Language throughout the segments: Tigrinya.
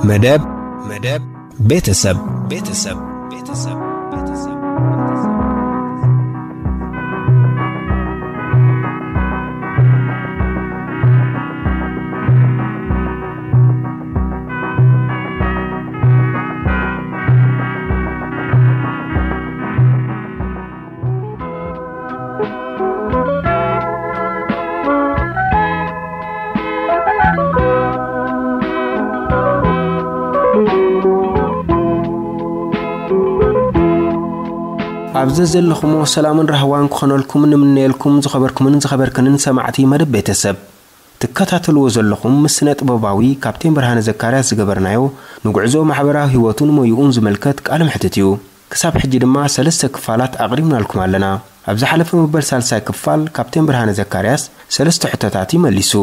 መደብ መደብ ቤተሰብ ቤተሰብ ቤተሰብ ቤተሰብ ኣብ ዘዘለኹሞ ሰላምን ራህዋን ክኾነልኩም ንምነየልኩም፣ ዝኸበርኩምን ዝኸበርክንን ሰማዕቲ መደብ ቤተሰብ። ትከታተልዎ ዘለኹም ምስ ስነ ጥበባዊ ካፕቴን ብርሃነ ዘካርያስ ዝገበርናዮ ንጉዕዞ ማሕበራዊ ህይወቱን ሞይኡን ዝምልከት ቃለ መሕትት እዩ። ክሳብ ሕጂ ድማ ሰለስተ ክፋላት ኣቕሪብናልኩም ኣለና። ኣብ ዝሓለፈ መበል ሳልሳይ ክፋል ካፕቴን ብርሃነ ዘካርያስ ሰለስተ ሕቶታት ይመሊሱ።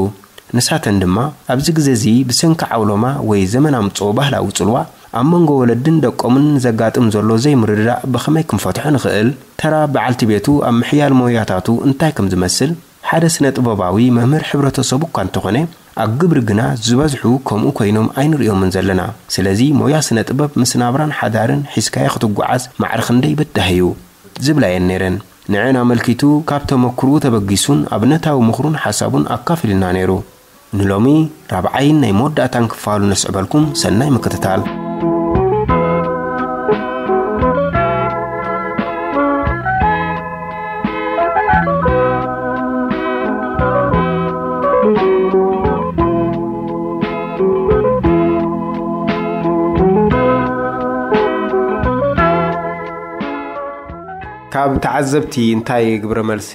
ንሳተን ድማ ኣብዚ ግዜ እዚ ብሰንኪ ዓውሎማ ወይ ዘመን ኣምጽኦ ባህላዊ ጽልዋ ኣብ መንጎ ወለድን ደቆምን ዘጋጥም ዘሎ ዘይምርድዳእ ብኸመይ ክንፈትሖ ንኽእል? ተራ በዓልቲ ቤቱ ኣብ ምሕያል ሞያታቱ እንታይ ከም ዝመስል? ሓደ ስነ ጥበባዊ መምህር ሕብረተሰቡ እኳ እንተኾነ፣ ኣብ ግብሪ ግና ዝበዝሑ ከምኡ ኮይኖም ኣይንርእዮምን ዘለና። ስለዚ ሞያ ስነ ጥበብ ምስ ናብራን ሓዳርን ሒዝካዮ ክትጓዓዝ ማዕረ ክንደይ በዳሂ እዩ ዝብላ እየን ነይረን። ንዐን ኣመልኪቱ ካብ ተመክርኡ ተበጊሱን ኣብነታዊ ምኽሩን ሓሳቡን ኣካፊሉና ነይሩ። ንሎሚ ራብዓይን ናይ መወዳእታን ክፋሉ ነስዕበልኩም። ሰናይ ምክትታል። ካብ ተዓዘብቲ እንታይ ግብረ መልሲ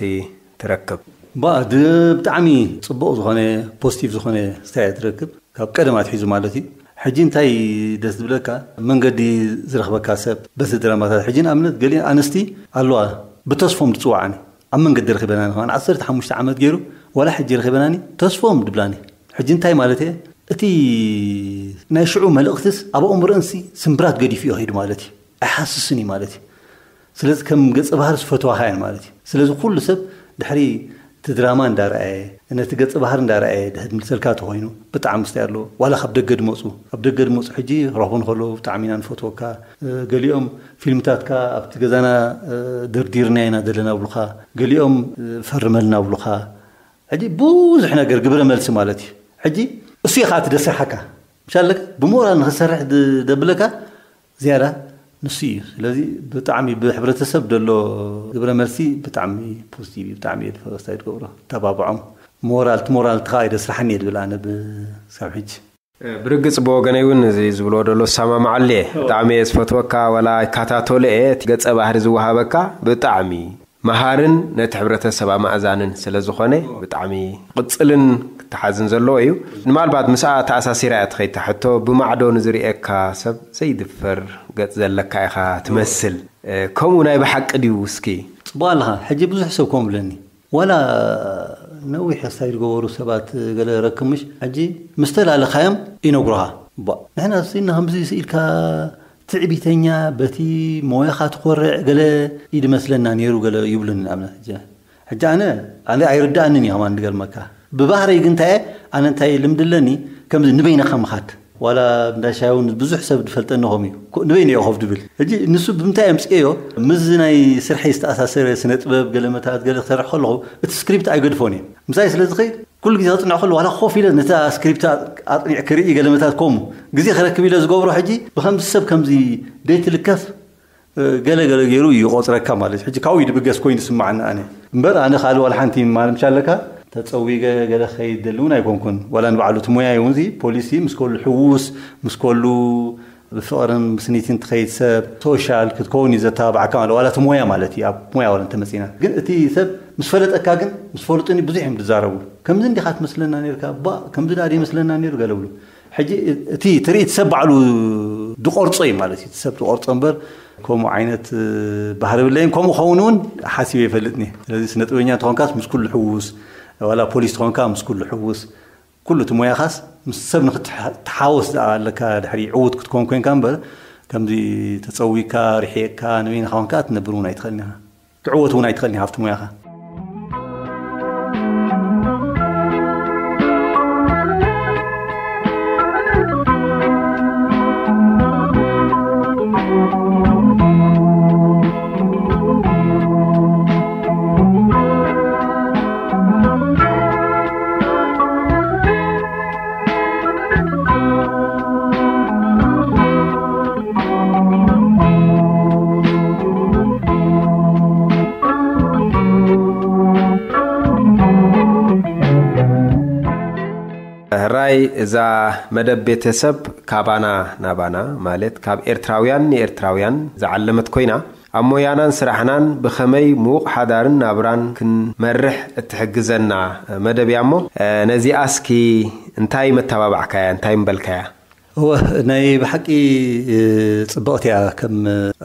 ትረክብ? ባ ድ- ብጣዕሚ ጽቡቕ ዝኾነ፣ ፖዚቲቭ ዝኾነ ኣስተያየት ትረክብ፣ ካብ ቀደም ኣትሒዙ ማለት እዩ። ሕጂ እንታይ ደስ ዝብለካ፣ መንገዲ ዝረኽበካ ሰብ በቲ ድራማታት። ሕጂ ንኣብነት ገሊአን ኣንስቲ ኣለዋ፣ ብተስፎም ዝጽዋዓኒ፣ ኣብ መንገዲ ረኺበናኒ ከማን ዓሰርተ ሓሙሽተ ዓመት ገይሩ፣ ዋላ ሕጂ ረኺበናኒ፣ ተስፎም ድብላኒ። ሕጂ እንታይ ማለት እየ? እቲ ናይ ሽዑ መልእኽትስ ኣብ ኣእምሮአንሲ ስምብራት ገዲፉ እዩ ከይዱ ማለት እዩ። ኣይሓስስን እዩ ማለት እዩ። ስለዚ ከም ገጸ ባህሪ ዝፈትዋኻ እየን ማለት እዩ። ስለዚ ኩሉ ሰብ ድሕሪ እቲ ድራማ እንዳረኣየ፣ ነቲ ገጸ ባህሪ እንዳረኣየ ድሕሪ ዝምልሰልካ ተኾይኑ ብጣዕሚ ምስታይ ኣለዎ። ዋላ ካብ ደገ ድመፁ፣ ካብ ደገ ድመፁ ሕጂ ክረኽቡ እንከለዉ ብጣዕሚ ኢና ንፈትወካ። እ፣ ገሊኦም ፊልምታትካ ኣብቲ ገዛና፣ እ፣ ደርዲርና ኢና ዘለና ብሉኻ። ገሊኦም፣ እ፣ ፈርመልና ብሉኻ። ሕጂ ብዙሕ ነገር ግብረ መልሲ ማለት እዩ። ሕጂ እሱ እዩ ከዓ እቲ ደስርሓካ። ምሻለካ ብሞራል ንኽሰርሕ ድ-፣ ደብለካ ዝያዳ ንሱ እዩ። ስለዚ ብጣዕሚ ብሕብረተሰብ ደሎ ግብረ መልሲ ብጣዕሚ ፖዚቲቭ እዩ። ብጣዕሚ እየ ዝፈ-፣ ኣስተያየት ገብሮ። ተባብዖም። ሞራል፣ እቲ ሞራል እቲ ከዓ እዩ ደስርሓኒ እየ ዝብል ኣነ ብ-፣ ክሳብ ሕጂ። ብርግጽ ብወገነይ እውን እዚ ዝብልዎ ደሎ ዝሰማማዓሉ እየ። ብጣዕሚ እየ ዝፈትወካ፣ ዋላ ይከታተሎ እየ። እቲ ገጸ ባህሪ ዝወሃበካ ብጣዕሚ መሃርን ነቲ ሕብረተሰብ ኣማእዛንን ስለ ዝኾነ ብጣዕሚ ክቕጽልን ክተሓዝን ዘለዎ እዩ። ንምናልባት ምስኣ ተኣሳሲራ እያ ትኸይድ እታ ሕቶ፣ ብማዕዶ ንዝርእየካ ሰብ ዘይድፈር ገጽ ዘለካ ኢኻ ትመስል። እ፣ ከምኡ ናይ ብሓቂ ድዩ እስኪ? ጽቡቕ ኣለኻ። ሕጂ ብዙሕ ሰብ ከምኡ ብለኒ። ዋላ ነዊሕ ስታይል ዝገበሩ ሰባት ገለ ረክብ ምሽ፣ ሕጂ ምስ ተላለኻዮም ይነግሩኻ። ባ፣ ንሕና ስኢልና ከምዚ ስኢልካ ትዕቢተኛ፣ በቲ ሞያኻ ትኾርዕ ገለ እዩ ዝመስለና ነይሩ ገለ ይብሉኒ። ንኣብነት ሕጂ፣ ሕጂ ኣነ፣ ኣነ ኣይርድኣንን እዩ ከማን ዝገርመካ። ብባህረይ ግን እንታይ እየ፣ ኣነ እንታይ ልምዲ ኣለኒ፣ ከምዚ ንበይንኻ ምኻድ። ዋላ እንዳ ሻሂ እውን ብዙሕ ሰብ ዝፈልጠኒ ከምኡ እዩ። ኮ-፣ ንበይኑ እየ ኮፍ ድብል። ሕጂ ንሱ ብምንታይ ኣምፅኤዮ? ምስዚ ናይ ስርሐይ ዝተኣሳሰረ ስነ ጥበብ፣ ገለ መታት፣ ገለ ክሰርሕ ከለኹ፣ እቲ ስክሪፕት ኣይገድፎን እየ። ምሳይ ስለ ዝኸይድ፣ ኩሉ ግዜ ከጽንዕ ከሎ፣ ዋላ ኮፍ ኢለ ነታ ስክሪፕት ኣጥኒዕ ክርኢ፣ ገለ መታት ከምኡ። ግዜ ክረክብ ኢለ ዝገብሮ ሕጂ፣ ብኸምዚ ሰብ ከምዚ ደይትልከፍ፣ ገለ ገለ ገይሩ ይቆጽረካ ማለት እዩ። ሕጂ ካብኡ ድብገስ ኮይኑ ስማዓኒ ኣነ። እምበር ኣነ ካልእ ዋላ ሓንቲ ማል ምሻለካ ተጸዊገ ገለ ክኸይድ ደሊ እውን ኣይኮንኩን። ዋላ ንባዕሉ እቲ ሞያ እውን እዚ ፖሊሲ ምስ ከሉ ሕዉስ፣ ምስ ከሉ ብፍቕርን ብስኒትን ትኸይድ ሰብ፣ ሶሻል ክትከውን እዩ ዘተባብዓካ ማለት ዋላ እቲ ሞያ ማለት እዩ። ኣብ ሞያ ዋላ እንተመጺና። ግን እቲ ሰብ ምስ ፈለጠካ ግን ምስ ፈልጡኒ ብዙሕ እዮም ዝዛረቡ። ከምዚ እንዲኻ ትመስለና ነርካ፣ ባ ከምዚ ደኣ ይመስለና ነይሩ ገለ ብሉ። ሕጂ እቲ ትርኢት ሰብ ባዕሉ ድቆርጾ እዩ ማለት እዩ። እቲ ሰብ ድቆርጾ እምበር ከምኡ ዓይነት፣ እ፣ ባህሪ የብለይን። ከምኡ ኸውን እውን ሓሲበ ይፈልጥኒ። ስለዚ ስነ ጥበበኛ ተኾንካስ ምስ ኩሉ ሕውስ፣ ዋላ ፖሊስ ተኾንካ ምስ ኩሉ ሕውስ፣ ኩሉ እቲ ሞያኻስ ምስ ሰብ ንክትሓወስ ደኣ ኣለካ። ድሕሪ ዕዉት ክትኮን ኮንካ እምበር ከምዚ ተጸዊካ፣ ርሒቕካ፣ ንበይንኻ ኮንካ ክትነብር እውን ኣይትኽእልን ኢኻ። ክዕወት እውን ኣይትኽእልን ኢኻ ኣብቲ ሞያኻ። ሕራይ እዛ መደብ ቤተሰብ ካባና ናባና፣ ማለት ካብ ኤርትራውያን ንኤርትራውያን ዝዓለመት ኮይና፣ ኣብ ሞያናን ስራሕናን ብኸመይ ምዉቕ ሓዳርን ናብራን ክንመርሕ እትሕግዘና መደብ እያ። እሞ ነዚኣ እስኪ እንታይ መተባባዕካያ? እንታይ ምበልካያ? እወ፣ ናይ ብሓቂ ጽብቕቲ እያ። ከም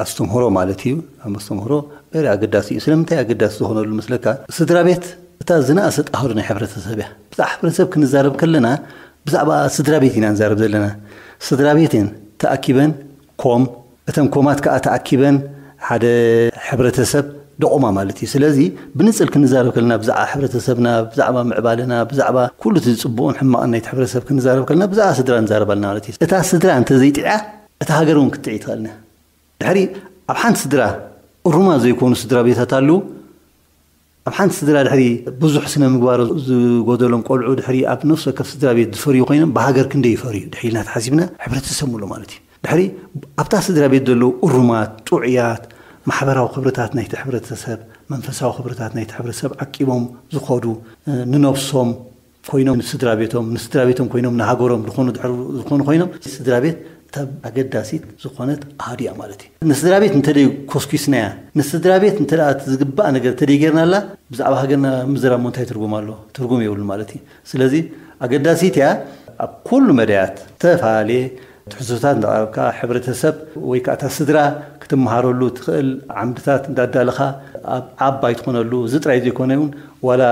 ኣስተምህሮ ማለት እዩ። ኣብ ኣስተምህሮ በሪ ኣገዳሲ እዩ። ስለምንታይ ኣገዳሲ ዝኾነሉ መስለካ? ስድራ ቤት እታ ዝነኣሰ ጣህሩ ናይ ሕብረተሰብ እያ። ብዛዕ ሕብረተሰብ ክንዛረብ ከለና ብዛዕባ ስድራ ቤት ኢና ንዛረብ ዘለና። ስድራ ቤት እየን ተኣኪበን ኮም፣ እተን ኮማት ከዓ ተኣኪበን ሓደ ሕብረተሰብ ደቑማ ማለት እዩ። ስለዚ ብንጽል ክንዛረብ ከለና ብዛዕባ ሕብረተሰብና፣ ብዛዕባ ምዕባለና፣ ብዛዕባ ኩሉ እቲ ዝጽቡቕን ሕማቕን ናይቲ ሕብረተሰብ ክንዛረብ ከለና ብዛዕባ ስድራ ንዛረብ ኣለና ማለት እዩ። እታ ስድራ እንተዘይጥዕያ እታ ሃገር እውን ክትጥዒ ትኽእል እያ። ድሕሪ ኣብ ሓንቲ ስድራ እሩማት ዘይኮኑ ስድራ ቤታት ኣለዉ። ኣብ ሓንቲ ስድራ ድሕሪ ብዙሕ ስነ ምግባር ዝጎደሎም ቆልዑ ድሕሪ ኣብ ነፍሲ ወከፍ ስድራ ቤት ዝፈርዩ ኮይኖም ብሃገር ክንደይ ይፈርዩ ድሕሪ ኢልና ተሓሲብና ሕብረተሰብ ምሉ ማለት እዩ። ድሕሪ ኣብታ ስድራ ቤት ዘለዉ እሩማት፣ ጥዑያት፣ ማሕበራዊ ክብርታት ናይቲ ሕብረተሰብ፣ መንፈሳዊ ክብርታት ናይቲ ሕብረተሰብ ዓቂቦም ዝኸዱ፣ ንነብሶም ኮይኖም ንስድራ ቤቶም፣ ንስድራ ቤቶም ኮይኖም ንሃገሮም ዝኾኑ ድሕሪ ዝኾኑ ኮይኖም ስድራ ቤት እታ ኣገዳሲት ዝኾነት ኣሃዱ እያ ማለት እዩ። ንስድራ ቤት እንተደይ ኮስኪስናያ፣ ንስድራ ቤት እንተ ደኣ እቲ ዝግባእ ነገር እንተደይ ጌርናላ፣ ብዛዕባ ሃገርና ምዝራብ እንታይ ትርጉም ኣሎ? ትርጉም የብሉ ማለት እዩ። ስለዚ ኣገዳሲት እያ። ኣብ ኩሉ መዳያት ዝተፈላለየ ትሕዝቶታት እንዳቕረብካ፣ ሕብረተሰብ ወይ ከዓ እታ ስድራ ክትመሃረሉ ትኽእል ዓምድታት እንዳዳለኻ፣ ኣብ ዓባይ ትኾነሉ፣ እዚ ጥራይ ዘይኮነ እውን ዋላ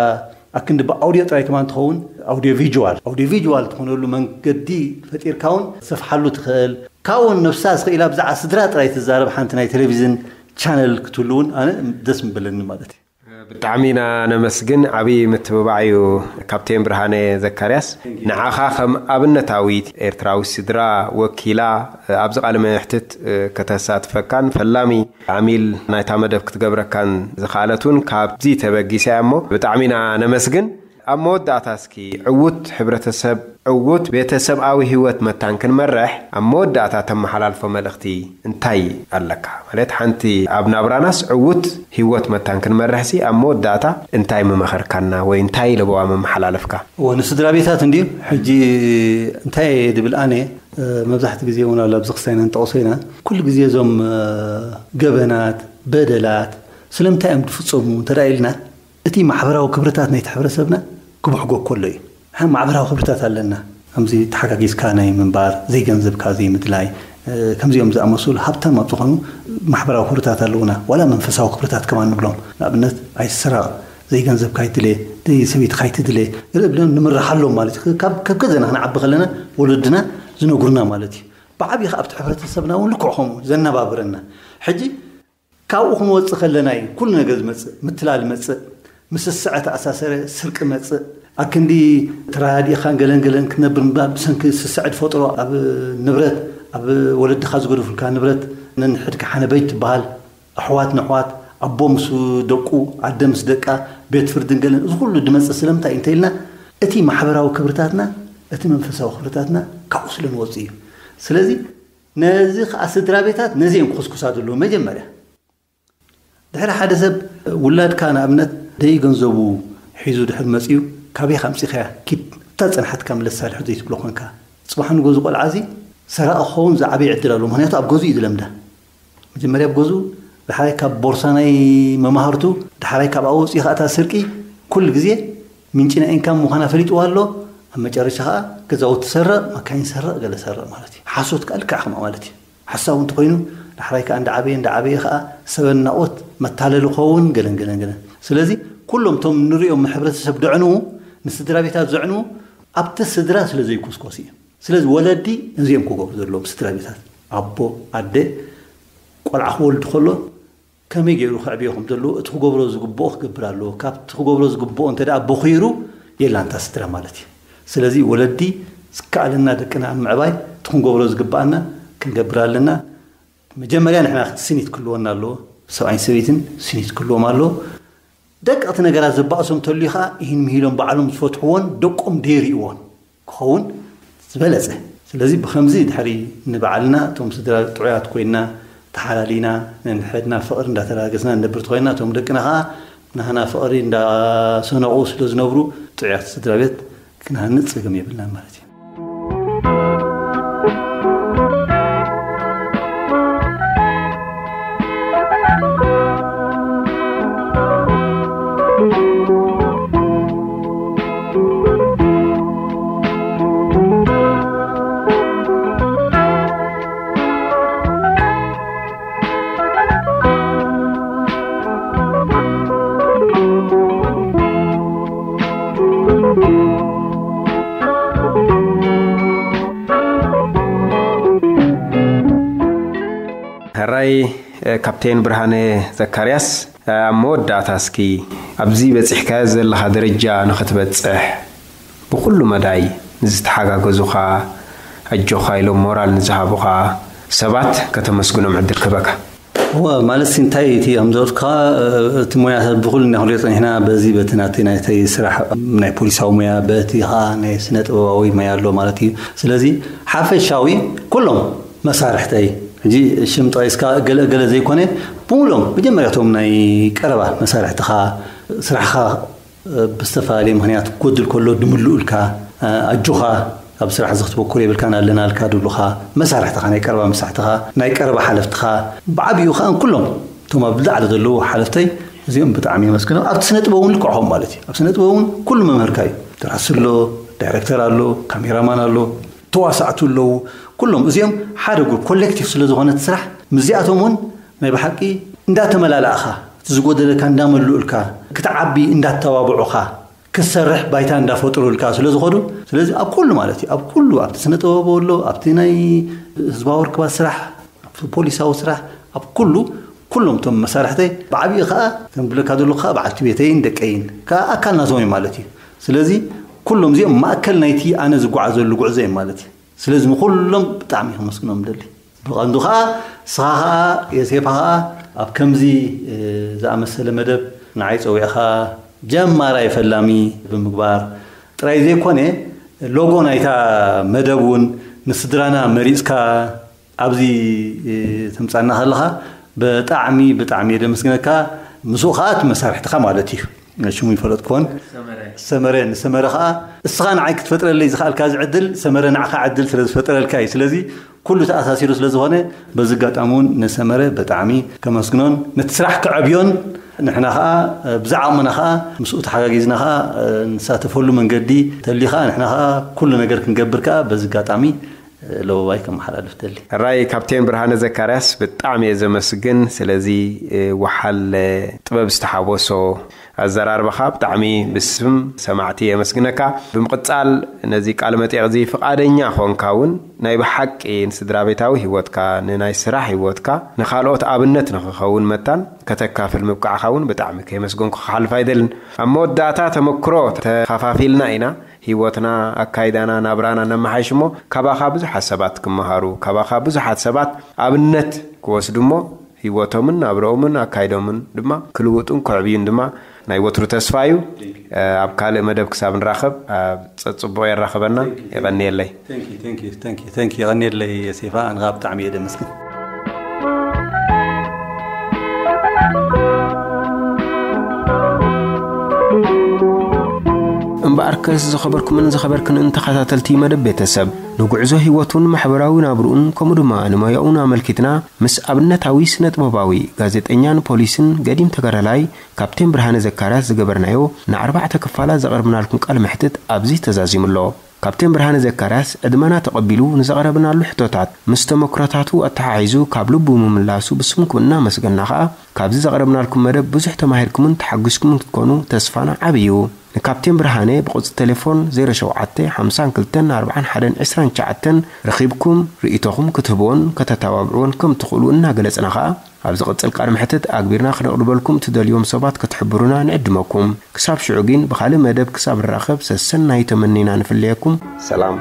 ኣክንዲ ብኣውዲዮ ጥራይ ከማን ትኸውን፣ ኣውዲዮ ቪዥዋል ኣውዲዮ ቪዥዋል ትኾነሉ መንገዲ ፈጢርካ እውን ትሰፍሓሉ ትኽእል። ካብኡ እውን ነብሳ ስኽኢላ ብዛዕባ ስድራ ጥራይ ትዛረብ ሓንቲ ናይ ቴሌቪዝን ቻነል ክትህሉ እውን ኣነ ደስ ምበለኒ ማለት እዩ። ብጣዕሚ ኢና ነመስግን። ዓብዪ ምትብባዕ እዩ። ካፕቴን ብርሃነ ዘካርያስ፣ ንዓኻ ከም ኣብነታዊት ኤርትራዊ ስድራ ወኪላ ኣብዚ ቃለ መሕትት ከተሳትፈካን ፈላሚ ዓሚል ናይታ መደብ ክትገብረካን ዝኸኣለት እውን ካብዚ ተበጊሳ እያ። እሞ ብጣዕሚ ኢና ነመስግን። ኣብ መወዳእታ እስኪ ዕዉት ሕብረተሰብ፣ ዕዉት ቤተሰብኣዊ ህይወት መታን ክንመርሕ ኣብ መወዳእታ ተመሓላልፎ መልእኽቲ እንታይ ኣለካ? ማለት ሓንቲ ኣብ ናብራናስ ዕዉት ህይወት መታን ክንመርሕሲ ኣብ መወዳእታ እንታይ ምመኸርካና ወይ እንታይ ለበዋ መመሓላለፍካ? እወ፣ ንስድራ ቤታት እንድዩ ሕጂ እንታይ እየ ድብል ኣነ፣ መብዛሕቲ ግዜ እውን ኣሎ ኣብዚ ክስታይና ንጠቕሶ ኢና። ኩሉ ግዜ እዞም ገበናት፣ በደላት ስለምንታይ እዮም ዝፍፀሙ እንተ ኢልና፣ እቲ ማሕበራዊ ክብርታት ናይቲ ሕብረተሰብና ክብሕጎ ከሎ እዩ። ሓ ማሕበራዊ ክብርታት ኣለና። ከምዚ ተሓጋጊዝካ ናይ ምንባር፣ ዘይገንዘብካ ዘይምድላይ፣ ከምዚኦም ዝኣመሰሉ ሃብታም ኣብ ዝኾኑ ማሕበራዊ ክብርታት ኣለውና። ዋላ መንፈሳዊ ክብርታት ከማን ንብሎም። ንኣብነት ኣይትስረቕ፣ ዘይገንዘብካ ኣይትድለ፣ ሰበይትካ ኣይትድለ፣ ገለ ብለን ንምርሓሎም ማለት እዩ። ካብ ገዛና ክንዓቢ ከለና ወለድና ዝነግሩና ማለት እዩ። ብዓብዪ ከ ኣብቲ ሕብረተሰብና እውን ልክዕ ከምኡ ዘነባብረና። ሕጂ ካብኡ ክንወፅእ ከለና እዩ ኩሉ ነገር ዝመፅእ። ምትላል መፅእ፣ ምስ ስስዐ ተኣሳሰረ ስርቂ መፅእ። ኣክንዲ ተረዳዲእኻን ገለን ገለን ክትነብር ምባል ብሰንኪ ስስዐ ዝፈጥሮ ኣብ ንብረት፣ ኣብ ወለድኻ ዝገደፉልካ ንብረት ነንሕድካ ሓነበይ ትበሃል። ኣሕዋት ንኣሕዋት፣ ኣቦ ምስ ደቁ፣ ኣደ ምስ ደቃ፣ ቤት ፍርድን ገለን፣ እዚ ኩሉ ዝመፅእ ስለምንታይ እንተኢልና እቲ ማሕበራዊ ክብርታትና፣ እቲ መንፈሳዊ ክብርታትና ካብኡ ስለ ንወፅእ እዩ። ስለዚ ነዚ ከዓ ስድራ ቤታት ነዚ እዮም ክኹስኩሳ ዘለዉ መጀመርያ። ድሕሪ ሓደ ሰብ ውላድካ ንኣብነት ደይ ገንዘቡ ሒዙ ድሕሪ መፅኡ ካበይ ኣምፂኻያ ኪድ እታ ፀንሓትካ ምለሳ ድሕሪ ዘይትብሎ ኮንካ ፅባሕ ንጎ ዝቆልዓ እዚ ሰራቂ ክኸውን ዝዓበየ ዕድል ኣሎ። ምክንያቱ ኣብ ገዝኡ እዩ ዝለምዳ። መጀመርያ ኣብ ገዝኡ፣ ዳሕራይ ካብ ቦርሳ ናይ መማህርቱ፣ ዳሕራይ ካብ ኣወፂኡ ከዓ እታ ስርቂ ኩሉ ግዜ ምንጪ ናይ ኢንካም ምዃና ፈሊጥዋ ኣሎ። ኣብ መጨረሻ ከዓ ገዛውቲ ሰርቕ፣ መካይን ሰርቕ፣ ገለ ሰርቕ ማለት እዩ። ሓሶት ከዓ ልክዕ ከምኣ ማለት እዩ። ሓሳዊ እንተኮይኑ ዳሕራይ ከዓ እንዳዓበየ እንዳዓበየ ከዓ ሰበናኦት መታለሊ ክኸውን ገለን ገለን ገለን። ስለዚ ኩሎም እቶም ንሪኦም ሕብረተሰብ ድዕንዉ ንስድራ ቤታት ዘዕንዉ ኣብቲ ስድራ ስለ ዘይኮስኮስ እዩ። ስለዚ ወለዲ ነዚኦም ክገብሩ ዘለዎም ስድራ ቤታት ኣቦ ኣደ ቆልዓ ክወልድ ከሎ ከመይ ገይሩ ከዕብዮ ከም ዘለዎ እቲ ክገብሮ ዝግብኦ ክገብር ኣለዎ። ካብቲ ክገብሮ ዝግብኦ እንተ ደኣ ቦኺሩ የላንታ ስድራ ማለት እዩ። ስለዚ ወለዲ ዝከኣለና ደቅና ኣብ ምዕባይ እቲ ክንገብሮ ዝግብኣና ክንገብር ኣለና። መጀመርያ ንሕና ስኒት ክህልወና ኣለዎ። ሰብኣይን ሰበይትን ስኒት ክህልዎም ኣለዎ። ደቀቕቲ ነገራት ዘባእሶም ተልዩ ከዓ ይህን ምሂሎም ባዕሎም ዝፈትሕዎን ደቆም ደይርእዎን ክኸውን ዝበለፀ። ስለዚ ብከምዚ ድሕሪ ንባዕልና እቶም ስድራ ጥዑያት ኮይና ተሓላሊና ነንሕድና ፍቕሪ እንዳተላገስና ንነብር ተኮይና እቶም ደቅና ከዓ ናህና ፍቕሪ እንዳሰነቑ ስለ ዝነብሩ ጥዑያት ስድራ ቤት ክንሃንጽ ጸገም የብልናን ማለት እዩ። ሕራይ ካፕቴን ብርሃነ ዘካርያስ፣ ኣብ መወዳእታ እስኪ ኣብዚ በጺሕካዮ ዘለኻ ደረጃ ንኽትበጽሕ ብኹሉ መዳይ ንዝተሓጋገዙኻ፣ ኣጆኻ ኢሎም ሞራል ንዝሃቡኻ ሰባት ከተመስግኖም ዕድል ክህበካ። እወ፣ ማለት ሲ እንታይ እቲ ከም ዘወትካ እቲ ሞያ ሰብ ብኹሉ ኢና ክንሪኦ ጸኒሕና፣ በዚ በቲ ናተይ ናይተይ ስራሕ ናይ ፖሊሳዊ ሞያ፣ በቲ ኸኣ ናይ ስነ ጥበባዊ ሞያ ኣሎ ማለት እዩ። ስለዚ ሓፈሻዊ ኩሎም መሳርሕተይ ሕጂ ሽም ጠቒስካ ገለ ገለ ዘይኮነ፣ ብምሉኦም መጀመርያቶም ናይ ቀረባ መሳርሕትኻ፣ ስራሕኻ ብዝተፈላለየ ምኽንያት ክጎድል ከሎ ድምልኡልካ፣ ኣጆኻ ኣብ ስራሕ እዚ ክትበኩር የብልካን ኣለናልካ ድብሉኻ፣ መሳርሕትኻ ናይ ቀረባ መሳርሕትኻ፣ ናይ ቀረባ ሓለፍትኻ፣ ብዓብዩ ከኣ ኩሎም እቶም ኣብ ላዕሊ ዘለዉ ሓለፍተይ እዚኦም ብጣዕሚ የመስግኖም። ኣብቲ ስነ ጥበብ እውን ልክዕኹም ማለት እዩ። ኣብ ስነ ጥበብ እውን ኩሉ መምህርካ እዩ። ደራሲ ኣሎ፣ ዳይሬክተር ኣሎ፣ ካሜራማን ኣሎ፣ ተዋሳእቲ ኣለዉ። ኩሎም እዚኦም ሓደ ግሩፕ ኮሌክቲቭ ስለ ዝኾነ እቲ ስራሕ ምስዚኣቶም እውን ናይ ብሓቂ እንዳተመላላእኻ እቲ ዝጎደለካ እንዳመልኡልካ ክትዓቢ እንዳተባብዑኻ ክትሰርሕ ባይታ እንዳፈጥሩልካ ስለ ዝኾዱ፣ ስለዚ ኣብ ኩሉ ማለት እዩ፣ ኣብ ኩሉ ኣብቲ ስነ ጥበብ ኣሎ፣ ኣብቲ ናይ ህዝባዊ ርክባት ስራሕ፣ ኣብቲ ፖሊሳዊ ስራሕ፣ ኣብ ኩሉ ኩሎም እቶም መሳርሕተይ ብዓብዪ ከዓ ከም ብለካ ዘለኹ ከዓ በዓልቲ ቤተይን ደቀይን ከዓ ኣካል ናቶም እዩ ማለት እዩ። ስለዚ ኩሎም እዚኦም ማእከል ናይቲ ኣነ ዝጓዓዘሉ ጉዕዞ እዮም ማለት እዩ። ስለዚ ንኩሎም ብጣዕሚ ከመስግኖም ደሊ። ብቐንዱ ኸኣ ንስኻ ኸኣ የሴፋ ኸኣ ኣብ ከምዚ ዝኣመሰለ መደብ ንዓይ ጸዊዕኻ ጀማራይ ፈላሚ ብምግባር ጥራይ ዘይኮነ፣ ሎጎ ናይታ መደብ እውን ንስድራና መሪጽካ ኣብዚ ተምጻና ከለኻ ብጣዕሚ ብጣዕሚ እየ ደመስግነካ። ምስኡ ኸኣ እቲ መሳርሕትኻ ማለት እዩ፣ ሽሙ ይፈለጥኩዎን፣ ሰመረ። ንሰመረ ኸኣ እስኻ ንዓይ ክትፈጥረለይ ዝኸኣልካ እዚ ዕድል ሰመረ ንዓኻ ዕድል ስለ ዝፈጠረልካ እዩ። ስለዚ ኩሉ ተኣሳሲሩ ስለ ዝኾነ በዚ ኣጋጣሚ እውን ንሰመረ ብጣዕሚ ከመስግኖን ነቲ ስራሕ ከዕብዮን ንሕና ኸኣ ብዛዕቕምና ኸኣ ምስኡ ተሓጋጊዝና ኸኣ ንሳተፈሉ መንገዲ ተልዩ ኸኣ ንሕና ኸኣ ኩሉ ነገር ክንገብር ከኣ በዚ ኣጋጣሚ ለበዋይ ከመሓላልፍ ደሊ። ሕራይ ካፕቴን ብርሃነ ዘካርያስ ብጣዕሚ እየ ዘመስግን። ስለዚ ወሓል ጥበብ ዝተሓወሶ ኣዘራርባኻ ብጣዕሚ ብስም ሰማዕቲ የመስግነካ። ብምቕጻል ነዚ ቃለ መጠይቕ እዚ ፍቓደኛ ኾንካ እውን ናይ ብሓቂ ንስድራ ቤታዊ ህይወትካ፣ ንናይ ስራሕ ህይወትካ፣ ንኻልኦት ኣብነት ንኽኸውን መታን ከተካፍል ምብቃዕኻ እውን ብጣዕሚ ከየመስገንኩ ክሓልፍ ኣይደልን። ኣብ መወዳእታ ተመክሮ ተኻፋፊልና ኢና። ህይወትና፣ ኣካይዳና፣ ናብራና ነመሓይሽ እሞ ካባኻ ብዙሓት ሰባት ክመሃሩ፣ ካባኻ ብዙሓት ሰባት ኣብነት ክወስዱ እሞ ህይወቶምን ናብረኦምን ኣካይዶምን ድማ ክልውጡን ክዕብዩን ድማ ናይ ወትሩ ተስፋ እዩ። ኣብ ካልእ መደብ ክሳብ ንራኸብ ኣብ ጸጽቡቕ የራኽበና። የቐንየለይ። Thank you, thank you, thank you, thank you። የቐንየለይ ሴፋ፣ ኣንኻ ብጣዕሚ እየ ደመስግን። እምበኣርከስ ዝኸበርኩምን ዝኸበርክንን ተኸታተልቲ መደብ ቤተሰብ፣ ንጉዕዞ ህይወቱን ማሕበራዊ ናብርኡን ከምኡ ድማ ንሞያኡን ኣመልኪትና ምስ ኣብነታዊ ስነ ጥበባዊ ጋዜጠኛን ፖሊስን ገዲም ተጋዳላይ ካፕቴን ብርሃነ ዘካርያስ ዝገበርናዮ ንኣርባዕተ ክፋላት ዘቕርብናልኩም ቃለ መሕትት ኣብዚ ተዛዚሙ ኣሎ። ካፕቴን ብርሃነ ዘካርያስ ዕድመና ተቐቢሉ ንዘቕረብናሉ ሕቶታት ምስ ተመክሮታቱ ኣተሓሒዙ ካብ ልቡ ምምላሱ ብስምኩም እናመስገና ኸኣ ካብዚ ዘቕረብናልኩም መደብ ብዙሕ ተማሂርኩምን ተሓጒስኩምን ክትኮኑ ተስፋና ዓቢ እዩ። ንካፕቴን ብርሃነ ብቁጽሪ ቴሌፎን ዜሮ ሸውዓተ ሓምሳን ክልተን ኣርባዓን ሓደን ዕስራን ትሽዓተን ረኺብኩም ርእይቶኹም ክትህብዎን ከተተባብዕዎን ከም ትኽእሉ እናገለጽና ኸኣ ኣብ ዝቕጽል ቃለ መሕትት ኣግቢርና ክነቕርበልኩም ትደልዮም ሰባት ክትሕብሩና ንዕድመኩም። ክሳብ ሽዑ ግን ብኻልእ መደብ ክሳብ ንራኸብ ሰሰናዩ ተመኒና ንፍለየኩም። ሰላም።